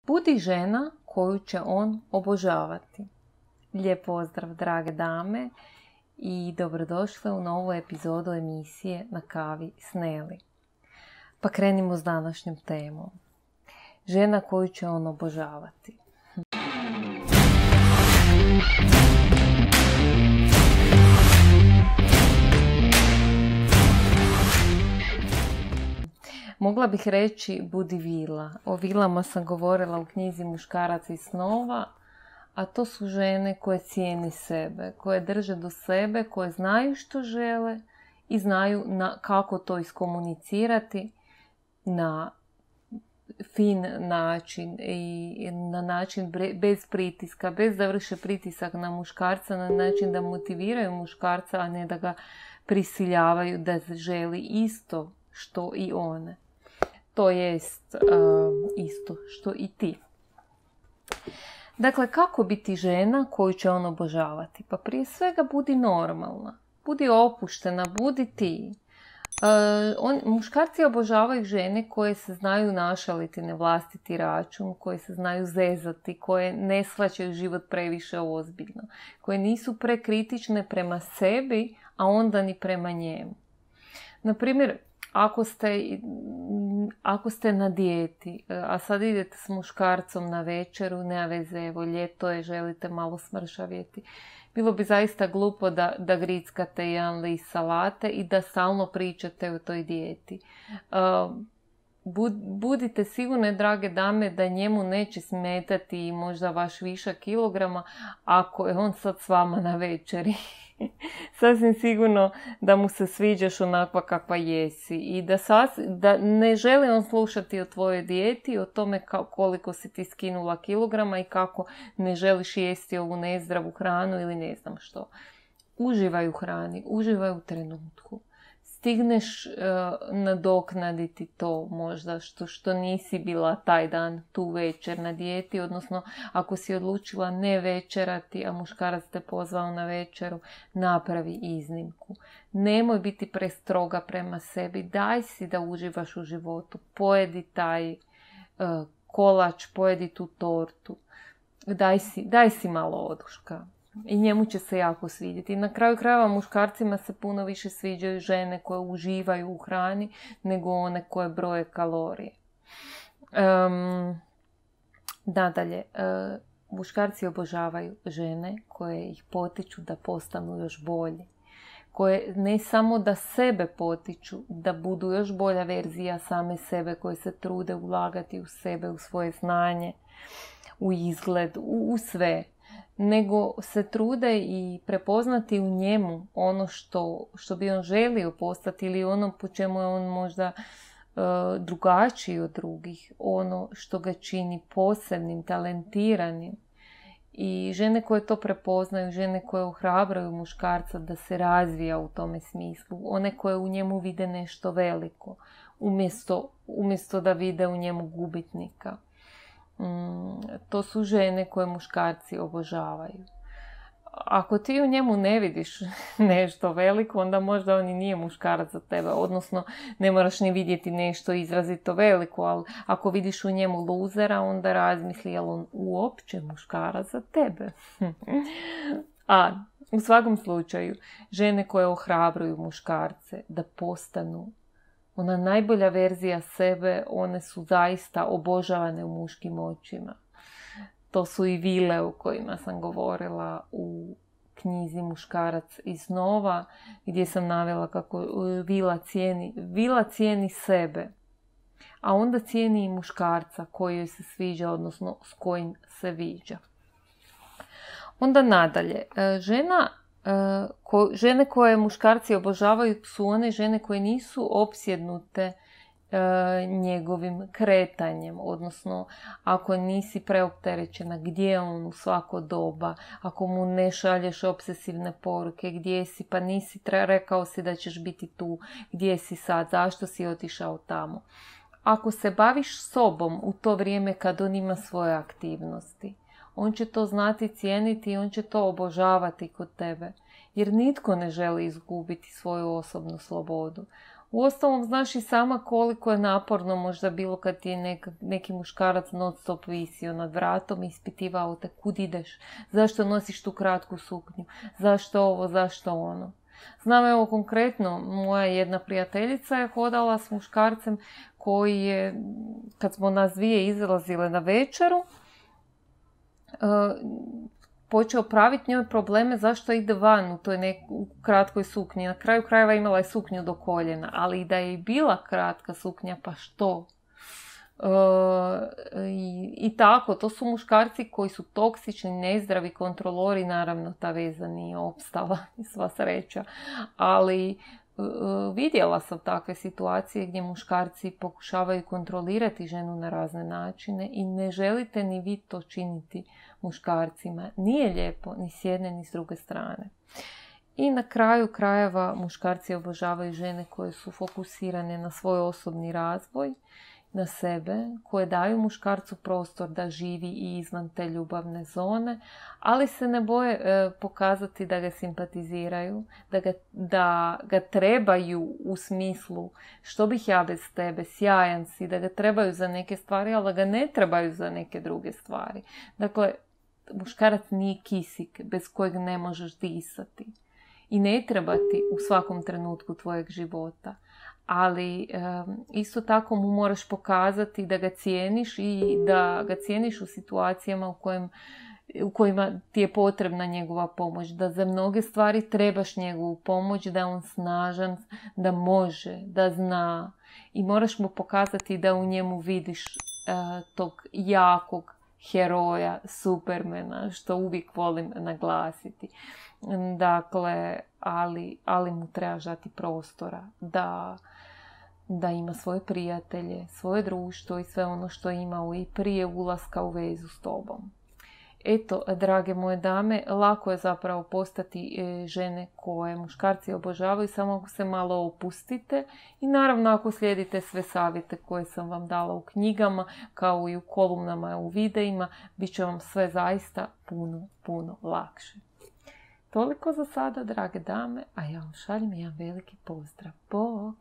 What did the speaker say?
Budi žena koju će on obožavati. Lijep pozdrav, drage dame, i dobrodošle u novu epizodu emisije Na kavi s Neli. Pa krenimo s današnjom temom. Žena koju će on obožavati. Mogla bih reći budi vila. O vilama sam govorila u knjizi Muškarac iz snova, a to su žene koje cijene sebe, koje drže do sebe, koje znaju što žele i znaju kako to iskomunicirati na fin način i na način bez pritiska, bez da vrše pritisak na muškarca, na način da motiviraju muškarca, a ne da ga prisiljavaju da želi isto što i one. To jest isto što i ti. Dakle, kako biti žena koju će on obožavati? Pa prije svega budi normalna, budi opuštena, budi ti. Muškarci obožavaju žene koje se znaju našaliti na vlastiti račun, koje se znaju zezati, koje ne shvaćaju život previše ozbiljno, koje nisu prekritične prema sebi, a onda ni prema njemu. Naprimjer, ako ste na dijeti, a sad idete s muškarcom na večeru, nema veze, evo ljeto je, želite malo smršavjeti. Bilo bi zaista glupo da grickate jedan list salate i da stalno pričate o toj dijeti. Budite sigurne, drage dame, da njemu neće smetati možda vaš višak kilograma ako je on sad s vama na večeri. Sasvim sigurno da mu se sviđaš onakva kakva jesi i da ne želi on slušati o tvojoj dijeti, o tome koliko si ti skinula kilograma i kako ne želiš jesti ovu nezdravu hranu ili ne znam što. Uživaj u hrani, uživaj u trenutku. Stigneš nadoknaditi to možda što nisi bila taj dan, tu večer na dijeti, odnosno ako si odlučila ne večerati, a muškarac te pozvao na večeru, napravi iznimku. Nemoj biti prestroga prema sebi, daj si da uživaš u životu, pojedi taj kolač, pojedi tu tortu, daj si malo oduška. I njemu će se jako svidjeti. Na kraju krajeva muškarcima se puno više sviđaju žene koje uživaju u hrani nego one koje broje kalorije. Nadalje, muškarci obožavaju žene koje ih potiču da postanu još bolji. Koje ne samo da sebe potiču, da budu još bolja verzija same sebe, koje se trude ulagati u sebe, u svoje znanje, u izgled, u sve, nego se trude i prepoznati u njemu ono što bi on želio postati ili ono po čemu je on možda drugačiji od drugih, ono što ga čini posebnim, talentiranim. I žene koje to prepoznaju, žene koje ohrabraju muškarca da se razvija u tome smislu, one koje u njemu vide nešto veliko, umjesto da vide u njemu gubitnika. To su žene koje muškarci obožavaju. Ako ti u njemu ne vidiš nešto veliko, onda možda on i nije muškarac za tebe. Odnosno, ne moraš ni vidjeti nešto izrazito veliko, ali ako vidiš u njemu luzera, onda razmisli je li on uopće muškarac za tebe. A u svakom slučaju, žene koje ohrabruju muškarce da postanu ona najbolja verzija sebe, one su zaista obožavane u muškim očima. To su i vile o kojima sam govorila u knjizi Muškarac iz snova, gdje sam navela kako vila cijeni sebe, a onda cijeni i muškarca koji joj se sviđa, odnosno s kojim se viđa. Onda nadalje, žene koje muškarci obožavaju su one žene koje nisu opsjednute njegovim kretanjem, odnosno ako nisi preopterećena gdje je on u svako doba, ako mu ne šalješ obsesivne poruke, gdje si, pa nisi rekao si da ćeš biti tu, gdje si sad, zašto si otišao tamo. Ako se baviš sobom u to vrijeme kad on ima svoje aktivnosti, on će to znati cijeniti i on će to obožavati kod tebe. Jer nitko ne želi izgubiti svoju osobnu slobodu. Uostalom, znaš i sama koliko je naporno možda bilo kad ti je neki muškarac non stop visio nad vratom i ispitivao te kud ideš, zašto nosiš tu kratku suknju, zašto ovo, zašto ono. Znam, evo konkretno, moja jedna prijateljica je hodala s muškarcem koji je, kad smo nas dvije izlazile na večeru, počeo praviti njoj probleme zašto ide van u toj kratkoj suknji. Na kraju krajeva imala je suknju do koljena, ali i da je bila kratka suknja, pa što? I tako, to su muškarci koji su toksični, nezdravi kontrolori, naravno ta veza nije opstala, sva sreća, ali vidjela sam takve situacije gdje muškarci pokušavaju kontrolirati ženu na razne načine i ne želite ni vi to činiti muškarcima. Nije lijepo ni s jedne ni s druge strane. I na kraju krajeva muškarci obožavaju žene koje su fokusirane na svoj osobni razvoj, na sebe, koje daju muškarcu prostor da živi i izvan te ljubavne zone, ali se ne boje pokazati da ga simpatiziraju, da ga trebaju u smislu što bih ja bez tebe, sjajan si, da ga trebaju za neke stvari, ali da ga ne trebaju za neke druge stvari. Dakle, muškarac nije kisik bez kojeg ne možeš disati i ne treba ti u svakom trenutku tvojeg života. Ali isto tako mu moraš pokazati da ga cijeniš i da ga cijeniš u situacijama u kojima ti je potrebna njegova pomoć. Da za mnoge stvari trebaš njegovu pomoć, da je on snažan, da može, da zna. I moraš mu pokazati da u njemu vidiš tog jakog heroja, supermena, što uvijek volim naglasiti. Dakle, ali mu trebaš dati prostora da ima svoje prijatelje, svoje društvo i sve ono što je imao i prije ulaska u vezu s tobom. Eto, drage moje dame, lako je zapravo postati žene koje muškarci obožavaju, samo ako se malo opustite i naravno ako slijedite sve savjete koje sam vam dala u knjigama, kao i u kolumnama, u videima, bit će vam sve zaista puno lakše. Toliko za sada, drage dame, a ja vam šaljem jedan veliki pozdrav. Bog!